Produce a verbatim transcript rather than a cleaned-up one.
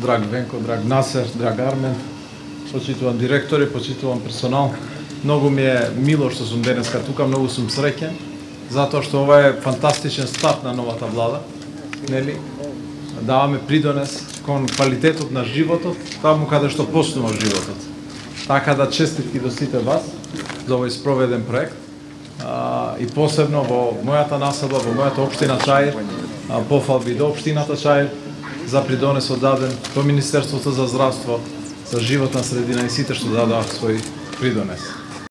драг Венко, драг Насер, драг Армен, почитуван директори, почитуван персонал. Многу ми е мило што сум денеска тука, многу сум среќен, затоа што ова е фантастичен старт на новата влада. Нели? Даваме придонес кон квалитетот на животот, таму каде што почнува животот. Така да честитки до сите вас за овој спроведен проект. А, и посебно во мојата населба, во мојата општина Чаир, а, пофалби до општината Чаир за придонесот даден до Министерството за здравство, за животна средина и сите што дадоа свој придонес.